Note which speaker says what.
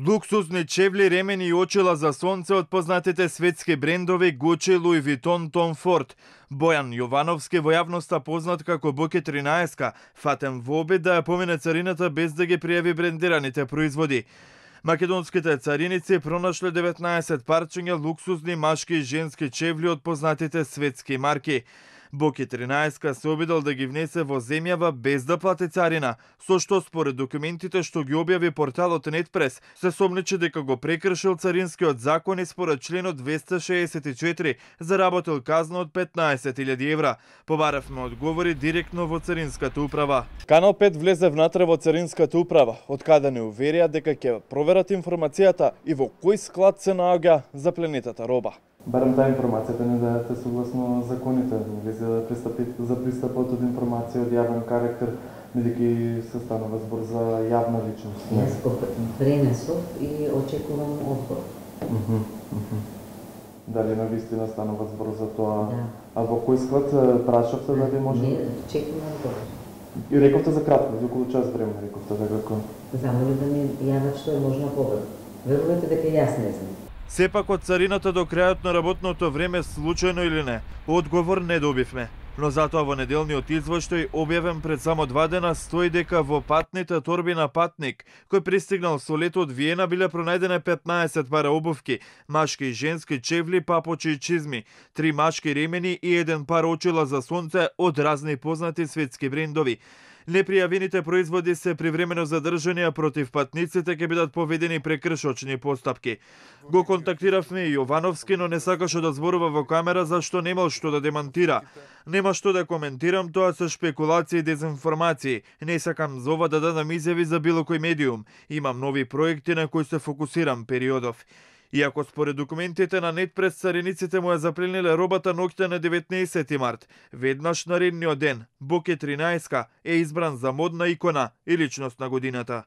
Speaker 1: Луксузни чевли, ремени и очила за сонце од познатите светски брендови Gucci, Louis Vuitton, Tom Ford. Бојан Јовановски, во јавноста познат како Боки 13, фатен во обид да ја помине царината без да ги пријави брендираните производи. Македонските цариници пронашле 19 парчиња луксузни машки и женски чевли од познатите светски марки. Боки 13 се обидел да ги внесе во земјава без да плати царина, со што според документите што ги објави порталот Нетпрес, се сомнечи дека го прекршил царинскиот закон и според членот 264 заработил казна од 15.000 евра. Побаравме одговори директно во Царинската управа. Канал 5 влезе внатре во Царинската управа, од каде не уверија дека ќе проверат информацијата и во кој склад се наоѓа запленетата роба.
Speaker 2: Барем таа информацијата не дајате согласно законите, за пристапот од информација од јавен карактер, бидејќи се станува збор за јавна личност.
Speaker 3: Јас пренесов и очекувам одговор.
Speaker 2: Дали навистина станува збор за тоа?
Speaker 3: Да.
Speaker 2: А во кој склад прашавте дали може?
Speaker 3: Не, чекувам одговор.
Speaker 2: И рековте за кратко, за околу час време рековте дека
Speaker 3: Замоли да ми јават што е можно побрзо. Верувате дека јас не знам.
Speaker 1: Сепак од царината до крајот на работното време, случајно или не, одговор не добивме. Но затоа во неделниот извештај, објавен пред само 2 дена, стои дека во патните торби на патник, кој пристигнал со лето од Виена, биле пронајдени 15 пара обувки, машки и женски чевли, папочи и чизми, 3 машки ремени и 1 пар очила за сонце од разни познати светски брендови. Непријавените производи се привремено задржани, а против патниците ќе бидат поведени прекршочни постапки. Го контактиравме и Јовановски, но не сакаше да зборува во камера зашто немал што да демантира. Нема што да коментирам, тоа се шпекулации и дезинформации. Не сакам за ова да дадам изјави за било кој медиум. Имам нови проекти на кои се фокусирам периодов. Иако според документите на Нетпрес, цариниците му ја заплениле робата ноќта на 19 март, веднаш наредниот ден, Боки 13 е избран за модна икона и личност на годината.